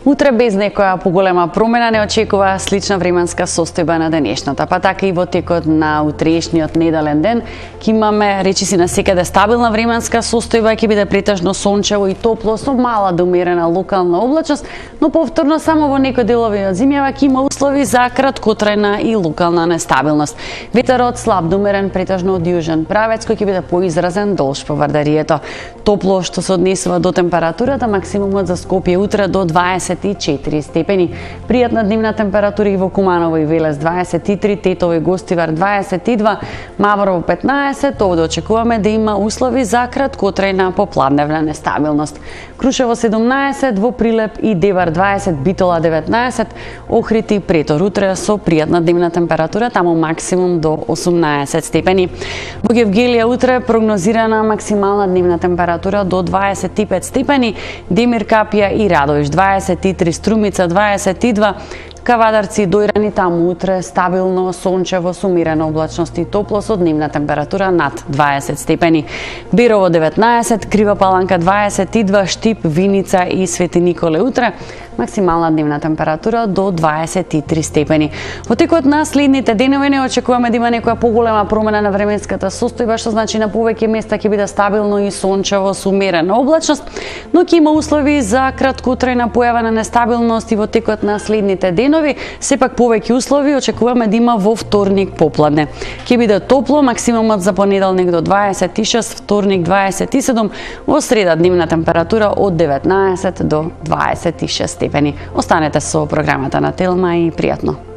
Утре без некоја поголема промена не очекува слична временска состојба на денешната, па така и во текот на утрешниот неделен ден ќе имаме речиси на секаде стабилна временска состојба, ќе биде претежно сончево и топло со мала до умерена локална облачност, но повторно само во некои делови од зимјава ќе има услови за краткотрајна и локална нестабилност. Ветерот слаб до умерен претежно од јужен правец кој ќе биде поизразен долж по Вардарието. Топло што се однесува до температурата, максимумот за Скопје утре до 24 степени. Пријатна дневна температура и во Куманово и Велес 23, Тетово и Гостивар 22, Маврово 15, овде очекуваме да има услови за краткотрајна попладневна нестабилност. Крушево 17, во Прилеп и Девар 20, Битола 19, Охрид и Претор утре со пријатна дневна температура, таму максимум до 18 степени. Во Гевгелија утре прогнозирана максимална дневна температура до 25 степени, Демир, Капија и Радовиш 23, Струмица 22, Кавадарци и Дојрани таму утре стабилно сончево со умерена облачност и топло со дневна температура над 20 степени. Берово 19, Крива Паланка 22, Штип, Виница и Свети Николе утре максимална дневна температура до 23 степени. Во текот на следните денови не очекуваме да има некоја поголема промена на временската состојба, што значи на повеќе места ќе биде стабилно и сончево со умерена облачност, но ќе има услови за краткотрајна појава на нестабилност и во текот на следните денови. Сепак повеќе услови очекуваме да има во вторник попладне. Ќе биде топло, максимумот за понеделник до 26, вторник 27, во среда дневна температура од 19 до 26 степени. Останете со програмата на Телма и пријатно.